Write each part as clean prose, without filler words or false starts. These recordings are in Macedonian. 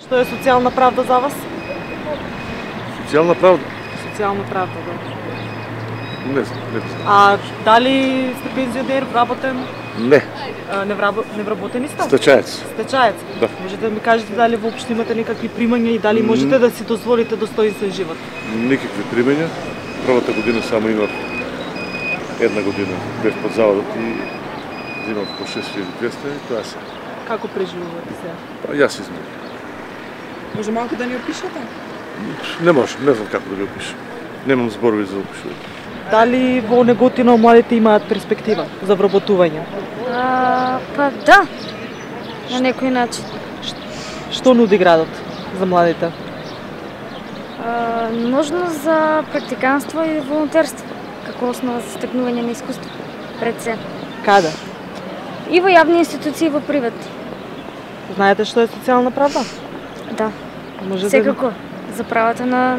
Што е социјална правда за вас? Социјална правда? Социјална правда, да. Не знам. А дали сте пензионер, вработен? Не. Невработени сте? Стечаец. Стечаец? Да. Можете да ми кажете дали воопшто имате некакви примања и дали можете да си дозволите достоинствен живот? Никакви примања. Првата година само имав една година бев под заводот и взимав по 6200 и тоа се. Како преживувате сега? Па јас измерам. Може малку да ни опишете? Не можам, не знам како да ви опишам. Немам зборови за опишување. Дали во Неготино младите имаат перспектива за вработување? Па да, на некој начин. Што нуди градот за младите? Можност за практиканство и волонтерство, како основа за стекнување на искуство пред се. Каде? И во јавни институции, и во приват. Знаете што е социјална правда? Да. Може Секако, за правата на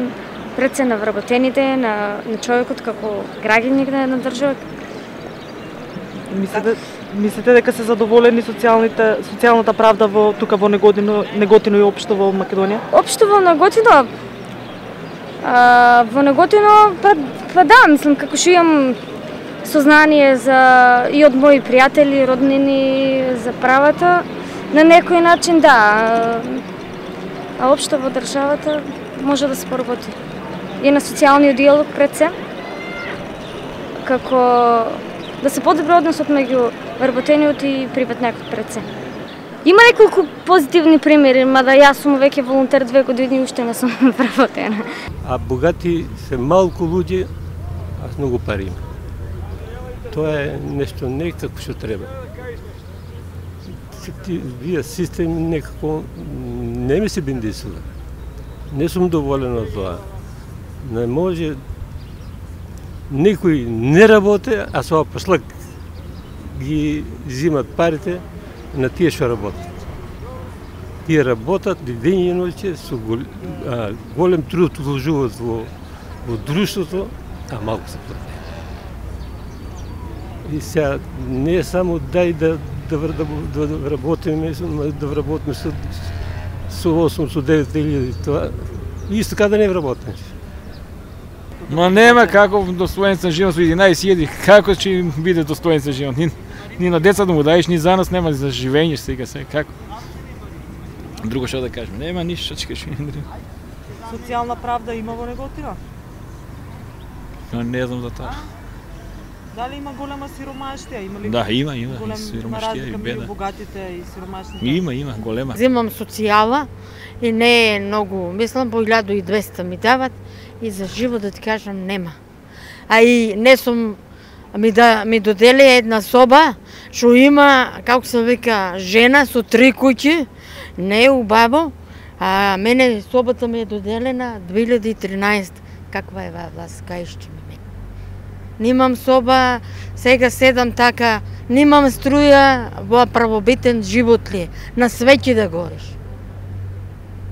пред се на вработените, на човекот како граѓаник на една држава. Мислите дека се задоволени социјалната правда тука во Неготино и општо во Македонија? Општо во Неготино, па да, мислам како што имам сознание и од мои пријатели, роднини за правата, на некој начин да. А општо во државата може да се поработи. И на социјалниот диалог пред се, како да се подобри односот меѓу вработениот и приватникот пред се. Има неколку позитивни примери, мада јас сум веќе волонтер 2 години и уште не сум вработена. А богати се малку луѓе, а многу пари има. Тоа е нешто не како што треба. Вие систем некако не ми се биндисува. Не сум доволен од тоа. Не може некој не работи, а со послак ги зимат парите на тие што работат. Тие работат ден и ноќе со голем труд вложуваат во друштвото, а малку се плати. И сега не е само дај да работиме со 8 со 9 илјади тоа. Исто така да не вработиш. Ма нема како достоинствен живот со 11.000, како ќе им биде достоинствен живот? Ни на децата му даеш, ни за нас нема за живење сега се како. Друго што да кажем, нема ништо што ќе кажем. Социјална правда има во Неготино? Не знам за тоа. Дали има голема сиромаштија? Има ли? Да, има сиромаштија и беда. Богатите и сиромашните. Има голема. Земам социјала и не е многу, мислам по 1200 ми дават и за живот да ти кажам нема. А и не сум ми додели една соба што има, како се вика, жена со 3 куќи, не е убаво, а мене собата ми е доделена 2013. Каква е власт, кај што ми? Немам соба, сега седам така, немам струја, во правобитен живот ли е, на свеќе да гориш.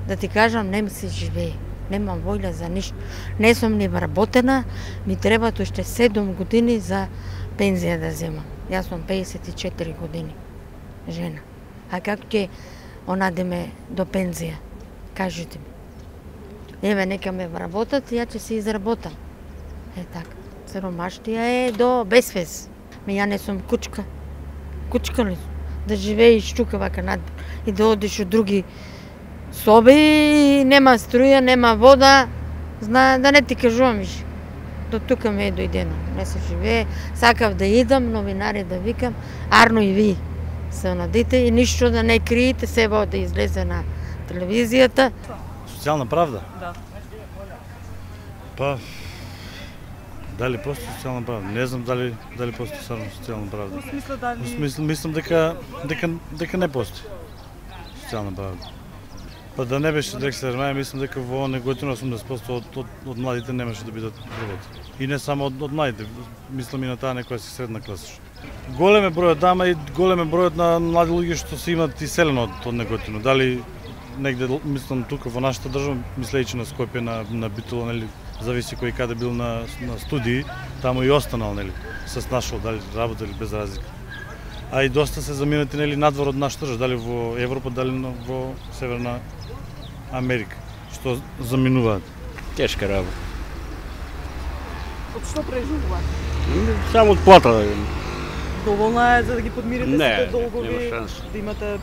Да ти кажам, не ми се живее, немам воља за ништо. Не сум ни вработена, ми требаат уште 7 години за пензија да земам. Јас сум 54 години, жена. А како ќе онадеме до пензија? Кажете ми. Еве, нека ме вработат, ја ќе се изработам. Е така. Сиромаштија е до безвез. Ја не сум кучка. Кучка ли сум? Да живееш тука вака надвор и да одиш у други соби, нема струја, нема вода. Да не ти кажувам више. До тука ме е дојдено. Не се живее. Сакав да идам, новинари да викам, арно и ви се онадите и ништо да не криете, себе да излезе на телевизијата. Социјална правда? Да. Па, дали постои социјална правда? Не знам дали постои стварно социјална правда. Во смисла дали... Мислам дека не постои социјална правда. Па да не беше Дрексле Ермаја, мислам дека во Неготино 80% од младите немаше да бидат работи. И не само од младите, мислам и на таа некоја си средна класа. Голем е бројот дама и голем е бројот на млади луѓе што се имат иселено од Неготино. Дали негде, мислам тука во нашата држава, мислејќи на Скопје, на Битола, нели, зависи кој каде бил на студии, таму и останал, нели, се снашол, дали работа или без разлика. А и доста се заминати, нели, надвор од нашата држава, дали во Европа, дали во Северна Америка, што заминуваат. Тешка работа. Од што преживуваат? Само од плата. Доволна е за да ги подмирите Не, сите долгови, нема шанс. да имате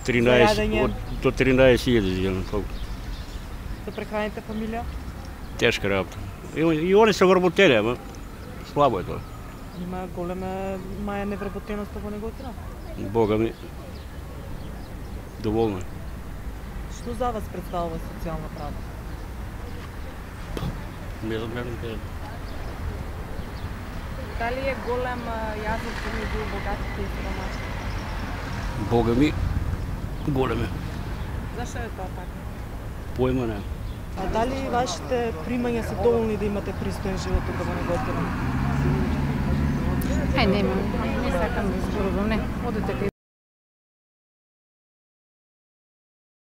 13, Зајадење. до 13.000 земам. да прехраните фамилија? Тешка работа. И они се вработени, ама слабо е тоа. Има голема маја невработеност во Неготина. Бога ми, доволно е. Што за вас представува социјална правда? Не знам како да кажам. Дали е голем јазот помеѓу богатите и сиромашните? Бога ми, голем е. Зашто е тоа така? Појма не. А дали вашите примања се доволни да имате пристоен живот тука во Неготина? Не сакам да зборувам, не. Одете кај